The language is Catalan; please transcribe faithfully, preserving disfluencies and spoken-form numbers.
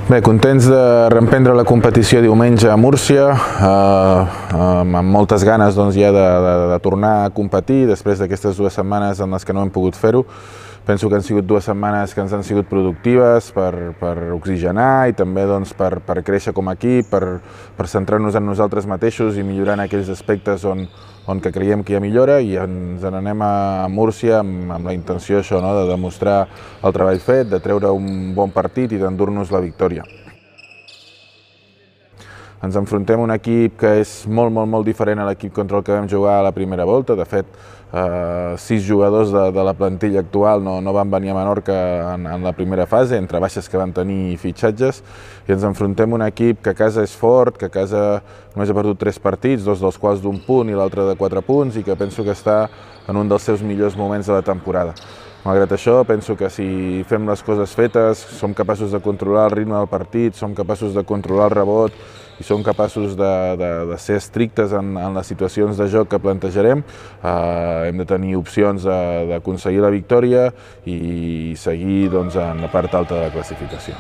Bé, contents de reemprendre la competició diumenge a Múrcia, eh, amb moltes ganes doncs, ja de, de, de tornar a competir després d'aquestes dues setmanes en les que no hem pogut fer-ho. Penso que han sigut dues setmanes que ens han sigut productives per, per oxigenar i també doncs, per, per créixer com a equip, per, per centrar-nos en nosaltres mateixos i millorar en aquells aspectes on, on que creiem que hi ha millora, i ens n'anem a Múrcia amb, amb la intenció això, no? de demostrar el treball fet, de treure un bon partit i d'endur-nos la victòria. Ens enfrontem a un equip que és molt, molt, molt diferent a l'equip contra el que vam jugar a la primera volta. De fet, eh, sis jugadors de, de la plantilla actual no, no van venir a Menorca en, en la primera fase, entre baixes que van tenir i fitxatges, i ens enfrontem a un equip que a casa és fort, que a casa només ha perdut tres partits, dos dels quals d'un punt i l'altre de quatre punts, i que penso que està en un dels seus millors moments de la temporada. Malgrat això, penso que si fem les coses fetes, som capaços de controlar el ritme del partit, som capaços de controlar el rebot i som capaços de, de, de ser estrictes en, en les situacions de joc que plantejarem. Eh, hem de tenir opcions d'aconseguir la victòria i seguir doncs, en la part alta de la classificació.